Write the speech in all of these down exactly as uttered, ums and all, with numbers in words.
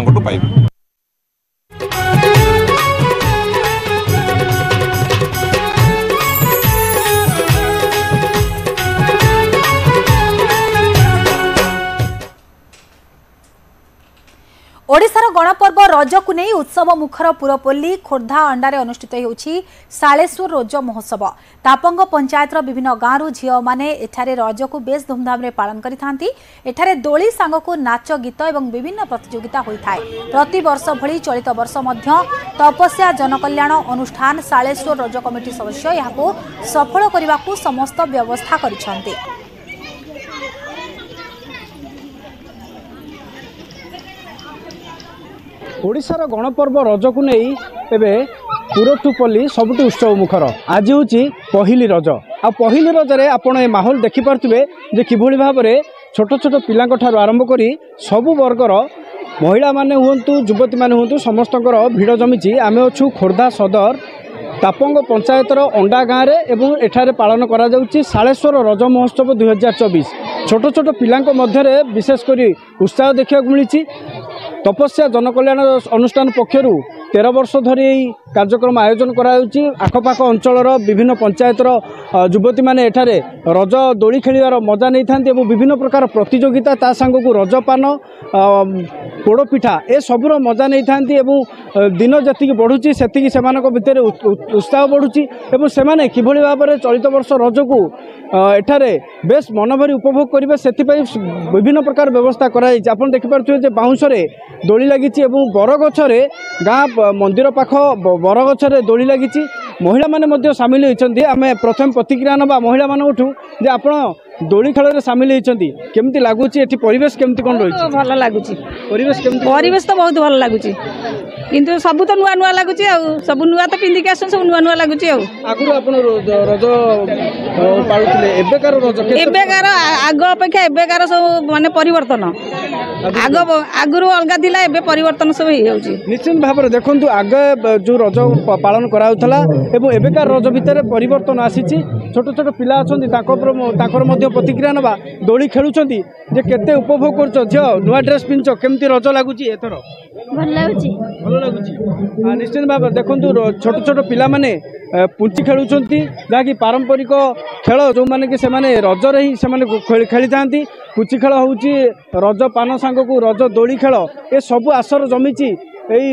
ତାଙ୍କଠୁ ପାଇବେ। ଓଡ଼ିଶାର ଗଣପର୍ବ ରଜକୁ ନେଇ ଉତ୍ସବ ମୁଖର ପୁରପଲ୍ଲୀ। ଖୋର୍ଦ୍ଧା ଅଣ୍ଡାରେ ଅନୁଷ୍ଠିତ ହେଉଛି ଶାଳେଶ୍ୱର ରଜ ମହୋତ୍ସବ। ତାପଙ୍ଗ ପଞ୍ଚାୟତର ବିଭିନ୍ନ ଗାଁରୁ ଝିଅମାନେ ଏଠାରେ ରଜକୁ ବେଶ୍ ଧୁମଧାମରେ ପାଳନ କରିଥାନ୍ତି। ଏଠାରେ ଦୋଳି ସାଙ୍ଗକୁ ନାଚ ଗୀତ ଏବଂ ବିଭିନ୍ନ ପ୍ରତିଯୋଗିତା ହୋଇଥାଏ। ପ୍ରତିବର୍ଷ ଭଳି ଚଳିତ ବର୍ଷ ମଧ୍ୟ ତପସ୍ୟା ଜନକଲ୍ୟାଣ ଅନୁଷ୍ଠାନ ଶାଳେଶ୍ୱର ରଜ କମିଟି ସଦସ୍ୟ ଏହାକୁ ସଫଳ କରିବାକୁ ସମସ୍ତ ବ୍ୟବସ୍ଥା କରିଛନ୍ତି। ଓଡ଼ିଶାର ଗଣପର୍ବ ରଜକୁ ନେଇ ଏବେ ପୁରଠୁପଲ୍ଲୀ ସବୁଠି ଉତ୍ସବ ମୁଖର। ଆଜି ହେଉଛି ପହିଲି ରଜ, ଆଉ ପହିଲି ରଜରେ ଆପଣ ଏ ମାହୋଲ ଦେଖିପାରୁଥିବେ ଯେ କିଭଳି ଭାବରେ ଛୋଟ ଛୋଟ ପିଲାଙ୍କ ଠାରୁ ଆରମ୍ଭ କରି ସବୁ ବର୍ଗର ମହିଳାମାନେ ହୁଅନ୍ତୁ, ଯୁବତୀମାନେ ହୁଅନ୍ତୁ, ସମସ୍ତଙ୍କର ଭିଡ଼ ଜମିଛି। ଆମେ ଅଛୁ ଖୋର୍ଦ୍ଧା ସଦର ତାପଙ୍ଗ ପଞ୍ଚାୟତର ଅଣ୍ଡା ଗାଁରେ ଏବଂ ଏଠାରେ ପାଳନ କରାଯାଉଛି ଶାଳେଶ୍ୱର ରଜ ମହୋତ୍ସବ ଦୁଇହଜାର ଚବିଶ। ଛୋଟ ଛୋଟ ପିଲାଙ୍କ ମଧ୍ୟରେ ବିଶେଷ କରି ଉତ୍ସାହ ଦେଖିବାକୁ ମିଳିଛି। ତପସ୍ୟା ଜନକଲ୍ୟାଣ ଅନୁଷ୍ଠାନ ପକ୍ଷରୁ ତେର ବର୍ଷ ଧରି ଏହି କାର୍ଯ୍ୟକ୍ରମ ଆୟୋଜନ କରାଯାଉଛି। ଆଖପାଖ ଅଞ୍ଚଳର ବିଭିନ୍ନ ପଞ୍ଚାୟତର ଯୁବତୀମାନେ ଏଠାରେ ରଜ ଦୋଳି ଖେଳିବାର ମଜା ନେଇଥାନ୍ତି ଏବଂ ବିଭିନ୍ନ ପ୍ରକାର ପ୍ରତିଯୋଗିତା, ତା ସାଙ୍ଗକୁ ରଜପାନ, ପୋଡ଼ପିଠା ଏସବୁର ମଜା ନେଇଥାନ୍ତି। ଏବଂ ଦିନ ଯେତିକି ବଢ଼ୁଛି ସେତିକି ସେମାନଙ୍କ ଭିତରେ ଉତ୍ସାହ ବଢ଼ୁଛି ଏବଂ ସେମାନେ କିଭଳି ଭାବରେ ଚଳିତ ବର୍ଷ ରଜକୁ ଏଠାରେ ବେଶ ମନଭରି ଉପଭୋଗ କରିବେ ସେଥିପାଇଁ ବିଭିନ୍ନ ପ୍ରକାର ବ୍ୟବସ୍ଥା କରାଯାଇଛି। ଆପଣ ଦେଖିପାରୁଥିବେ ଯେ ବାଉଁଶରେ ଦୋଳି ଲାଗିଛି ଏବଂ ବରଗଛରେ, ଗାଁ ମନ୍ଦିର ପାଖ ବରଗଛରେ ଦୋଳି ଲାଗିଛି। ମହିଳାମାନେ ମଧ୍ୟ ସାମିଲ ହୋଇଛନ୍ତି। ଆମେ ପ୍ରଥମେ ପ୍ରତିକ୍ରିୟା ନେବା ମହିଳାମାନଙ୍କଠୁ ଯେ ଆପଣ ଦୋଳି ଖେଳରେ ସାମିଲ ହୋଇଛନ୍ତି, କେମିତି ଲାଗୁଛି ଏଠି ପରିବେଶ, କେମିତି କ'ଣ ରହିଛି? ଭଲ ଲାଗୁଛି ପରିବେଶ। କେମିତି ପରିବେଶ? ତ ବହୁତ ଭଲ ଲାଗୁଛି, କିନ୍ତୁ ସବୁ ତ ନୂଆ ନୂଆ ଲାଗୁଛି, ଆଉ ସବୁ ନୂଆ ତ ପିନ୍ଧିକି ଆସୁଛନ୍ତି, ସବୁ ନୂଆ ନୂଆ ଲାଗୁଛି। ଆଉ ଆଗରୁ ଆପଣ ରଜ ପାଳୁଥିଲେ, ଏବେକାର ରଜ? ଏବେକାର ଆଗ ଅପେକ୍ଷା ଏବେକାର ସବୁ ମାନେ ପରିବର୍ତ୍ତନ, ଆଗ ଆଗରୁ ଅଲଗା ଥିଲା, ଏବେ ପରିବର୍ତ୍ତନ ସବୁ ହେଇଯାଉଛି। ନିଶ୍ଚିତ ଭାବରେ ଦେଖନ୍ତୁ, ଆଗ ଯେଉଁ ରଜ ପାଳନ କରାଯାଉଥିଲା ଏବଂ ଏବେକାର ରଜ ଭିତରେ ପରିବର୍ତ୍ତନ ଆସିଛି। ଛୋଟ ଛୋଟ ପିଲା ଅଛନ୍ତି, ତାଙ୍କ ତାଙ୍କର ମଧ୍ୟ ପ୍ରତିକ୍ରିୟା ନେବା। ଦୋଳି ଖେଳୁଛନ୍ତି ଯେ କେତେ ଉପଭୋଗ କରୁଛ? ଝିଅ, ନୂଆ ଡ୍ରେସ୍ ପିନ୍ଧିଛ, କେମିତି ରଜ ଲାଗୁଛି ଏଥର? ଭଲ ଲାଗୁଛି। ଭଲ ଲାଗୁଛି ନିଶ୍ଚିତ ଭାବରେ। ଦେଖନ୍ତୁ, ଛୋଟ ଛୋଟ ପିଲାମାନେ ପୁଞ୍ଚି ଖେଳୁଛନ୍ତି, ଯାହାକି ପାରମ୍ପରିକ ଖେଳ, ଯେଉଁମାନେ କି ସେମାନେ ରଜରେ ହିଁ ସେମାନେ ଖେଳିଥାନ୍ତି। ପୁଚି ଖେଳ ହେଉଛି, ରଜ ପାନ ସାଙ୍ଗକୁ ରଜ ଦୋଳି ଖେଳ, ଏସବୁ ଆସର ଜମିଛି ଏଇ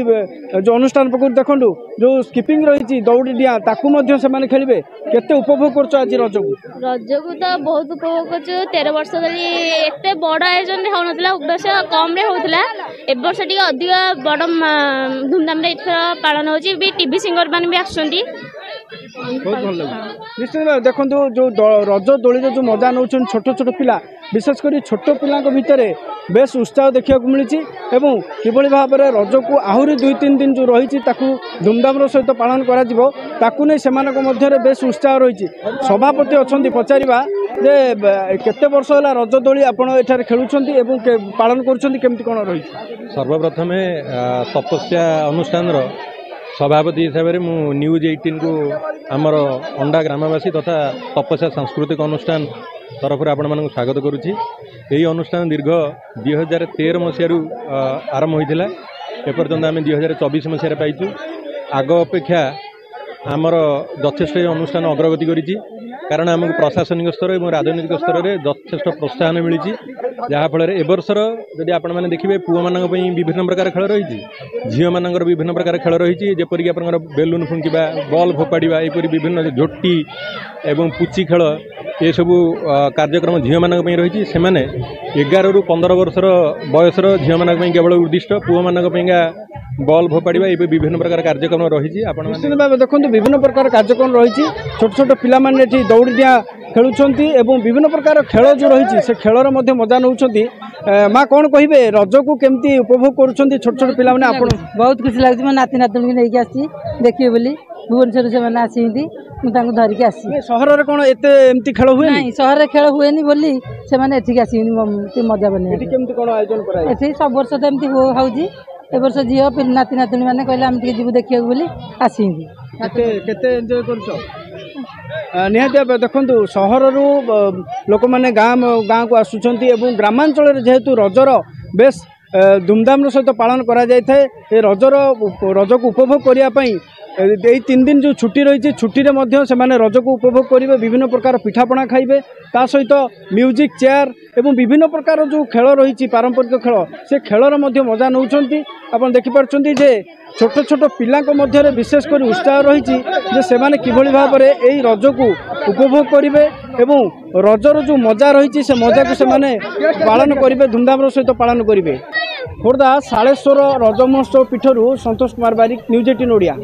ଯେଉଁ ଅନୁଷ୍ଠାନ ପକ୍ଷରୁ। ଦେଖନ୍ତୁ, ଯେଉଁ ସ୍କିପିଂ ରହିଛି, ଦୌଡ଼ି ଡିଆଁ, ତାକୁ ମଧ୍ୟ ସେମାନେ ଖେଳିବେ। କେତେ ଉପଭୋଗ କରୁଛ ଆଜି ରଜକୁ? ରଜକୁ ତ ବହୁତ ଉପଭୋଗ କରୁଛୁ। ତେର ବର୍ଷ ଧରି ଏତେ ବଡ଼ ଆୟୋଜନରେ ହେଉନଥିଲା, ବର୍ଷ କମ୍ରେ ହେଉଥିଲା। ଏ ବର୍ଷ ଟିକେ ଅଧିକ ବଡ଼ ଧୁମଧାମରେ ଏଥର ପାଳନ ହେଉଛି ବି, ଟିଭି ସିଙ୍ଗର ମାନେ ବି ଆସୁଛନ୍ତି। ବହୁତ ଭଲ ଲାଗୁଛି ନିଶ୍ଚିତ ଭାବେ। ଦେଖନ୍ତୁ, ଯେଉଁ ରଜ ଦୋଳିରେ ଯେଉଁ ମଜା ନେଉଛନ୍ତି ଛୋଟ ଛୋଟ ପିଲା, ବିଶେଷ କରି ଛୋଟ ପିଲାଙ୍କ ଭିତରେ ବେଶ ଉତ୍ସାହ ଦେଖିବାକୁ ମିଳିଛି ଏବଂ କିଭଳି ଭାବରେ ରଜକୁ ଆହୁରି ଦୁଇ ତିନି ଦିନ ଯେଉଁ ରହିଛି ତାକୁ ଧୁମଧାମର ସହିତ ପାଳନ କରାଯିବ, ତାକୁ ନେଇ ସେମାନଙ୍କ ମଧ୍ୟରେ ବେଶ ଉତ୍ସାହ ରହିଛି। ସଭାପତି ଅଛନ୍ତି, ପଚାରିବା ଯେ କେତେ ବର୍ଷ ହେଲା ରଜ ଦୋଳି ଆପଣ ଏଠାରେ ଖେଳୁଛନ୍ତି ଏବଂ ପାଳନ କରୁଛନ୍ତି, କେମିତି କ'ଣ ରହିଛି? ସର୍ବପ୍ରଥମେ ତପସ୍ୟା ଅନୁଷ୍ଠାନର ସଭାପତି ହିସାବରେ ମୁଁ ନ୍ୟୁଜ୍ ଏଇଟିନ୍କୁ ଆମର ଅଣ୍ଡା ଗ୍ରାମବାସୀ ତଥା ତପସ୍ୟା ସାଂସ୍କୃତିକ ଅନୁଷ୍ଠାନ ତରଫରୁ ଆପଣମାନଙ୍କୁ ସ୍ୱାଗତ କରୁଛି। ଏହି ଅନୁଷ୍ଠାନ ଦୀର୍ଘ ଦୁଇ ହଜାର ତେର ମସିହାରୁ ଆରମ୍ଭ ହୋଇଥିଲା, ଏପର୍ଯ୍ୟନ୍ତ ଆମେ ଦୁଇ ହଜାର ଚବିଶ ମସିହାରେ ପାଇଛୁ। ଆଗ ଅପେକ୍ଷା ଆମର ଯଥେଷ୍ଟ ଏହି ଅନୁଷ୍ଠାନ ଅଗ୍ରଗତି କରିଛି, କାରଣ ଆମକୁ ପ୍ରଶାସନିକ ସ୍ତର ଏବଂ ରାଜନୈତିକ ସ୍ତରରେ ଯଥେଷ୍ଟ ପ୍ରୋତ୍ସାହନ ମିଳିଛି, ଯାହାଫଳରେ ଏ ବର୍ଷର ଯଦି ଆପଣମାନେ ଦେଖିବେ, ପୁଅମାନଙ୍କ ପାଇଁ ବିଭିନ୍ନ ପ୍ରକାର ଖେଳ ରହିଛି, ଝିଅମାନଙ୍କର ବିଭିନ୍ନ ପ୍ରକାର ଖେଳ ରହିଛି, ଯେପରିକି ଆପଣଙ୍କର ବେଲୁନ୍ ଫୁଙ୍କିବା, ବଲ୍ ଫୋପାଡ଼ିବା, ଏହିପରି ବିଭିନ୍ନ ଝୋଟି ଏବଂ ପୁଚି ଖେଳ, ଏସବୁ କାର୍ଯ୍ୟକ୍ରମ ଝିଅମାନଙ୍କ ପାଇଁ ରହିଛି। ସେମାନେ ଏଗାରରୁ ପନ୍ଦର ବର୍ଷର ବୟସର ଝିଅମାନଙ୍କ ପାଇଁ କେବଳ ଉଦ୍ଦିଷ୍ଟ। ପୁଅମାନଙ୍କ ପାଇଁକା ବଲ୍ ଫୋପାଡ଼ିବା, ଏବେ ବିଭିନ୍ନ ପ୍ରକାର କାର୍ଯ୍ୟକ୍ରମ ରହିଛି। ଆପଣ ନିଶ୍ଚିତ ଭାବେ ଦେଖନ୍ତୁ, ବିଭିନ୍ନ ପ୍ରକାର କାର୍ଯ୍ୟକ୍ରମ ରହିଛି। ଛୋଟ ଛୋଟ ପିଲାମାନେ ଏଠି ଦୌଡ଼ି ଡିଆଁ ଖେଳୁଛନ୍ତି ଏବଂ ବିଭିନ୍ନ ପ୍ରକାର ଖେଳ ଯେଉଁ ରହିଛି ସେ ଖେଳର ମଧ୍ୟ ମଜା ନେଉଛନ୍ତି। ମା, କ'ଣ କହିବେ, ରଜକୁ କେମିତି ଉପଭୋଗ କରୁଛନ୍ତି ଛୋଟ ଛୋଟ ପିଲାମାନେ ଆପଣ? ବହୁତ ଖୁସି ଲାଗୁଛି। ମୋ ନାତି ନାତୁଣୀକୁ ନେଇକି ଆସିଛି ଦେଖିବେ ବୋଲି, ଭୁବନେଶ୍ୱରରୁ ସେମାନେ ଆସିଛନ୍ତି, ମୁଁ ତାଙ୍କୁ ଧରିକି ଆସିଛି। ସହରରେ କ'ଣ ଏତେ ଏମିତି ଖେଳ ହୁଏ? ନାଇଁ, ସହରରେ ଖେଳ ହୁଏନି ବୋଲି ସେମାନେ ଏଠିକି ଆସିଛନ୍ତି ମଜା ବନେଇବା। ଏଠି କେମିତି କ'ଣ ଆୟୋଜନ କରାଯାଏ? ଏଠି ସବୁ ବର୍ଷ ତ ଏମିତି ହେଉଛି, ଏ ବର୍ଷ ଝିଅ ନାତି ନାତୁଣୀ ମାନେ କହିଲେ ଆମେ ଟିକେ ଯିବୁ ଦେଖିବାକୁ ବୋଲି ଆସିଛନ୍ତି। କେତେ କେତେ ଏନ୍ଜୟ କରୁଛ? ନିହାତି ଭାବେ ଦେଖନ୍ତୁ, ସହରରୁ ଲୋକମାନେ ଗାଁ ଗାଁକୁ ଆସୁଛନ୍ତି ଏବଂ ଗ୍ରାମାଞ୍ଚଳରେ ଯେହେତୁ ରଜର ବେଶ ଧୁମଧାମର ସହିତ ପାଳନ କରାଯାଇଥାଏ। ଏ ରଜର ରଜକୁ ଉପଭୋଗ କରିବା ପାଇଁ ଏଇ ତିନି ଦିନ ଯେଉଁ ଛୁଟି ରହିଛି, ଛୁଟିରେ ମଧ୍ୟ ସେମାନେ ରଜକୁ ଉପଭୋଗ କରିବେ, ବିଭିନ୍ନ ପ୍ରକାର ପିଠାପଣା ଖାଇବେ, ତା ସହିତ ମ୍ୟୁଜିକ୍ ଚେୟାର ଏବଂ ବିଭିନ୍ନ ପ୍ରକାର ଯେଉଁ ଖେଳ ରହିଛି, ପାରମ୍ପରିକ ଖେଳ, ସେ ଖେଳର ମଧ୍ୟ ମଜା ନେଉଛନ୍ତି। ଆପଣ ଦେଖିପାରୁଛନ୍ତି ଯେ ଛୋଟ ଛୋଟ ପିଲାଙ୍କ ମଧ୍ୟରେ ବିଶେଷ କରି ଉତ୍ସାହ ରହିଛି ଯେ ସେମାନେ କିଭଳି ଭାବରେ ଏଇ ରଜକୁ ଉପଭୋଗ କରିବେ ଏବଂ ରଜର ଯେଉଁ ମଜା ରହିଛି ସେ ମଜାକୁ ସେମାନେ ପାଳନ କରିବେ, ଧୁମଧାମର ସହିତ ପାଳନ କରିବେ। ଖୋର୍ଦ୍ଧା ଶାଳେଶ୍ୱର ରଜ ମହୋତ୍ସବ ପୀଠରୁ ସନ୍ତୋଷ କୁମାର ବାରିକ, ନ୍ୟୁଜ୍ ଏଇଟିନ୍ ଓଡ଼ିଆ।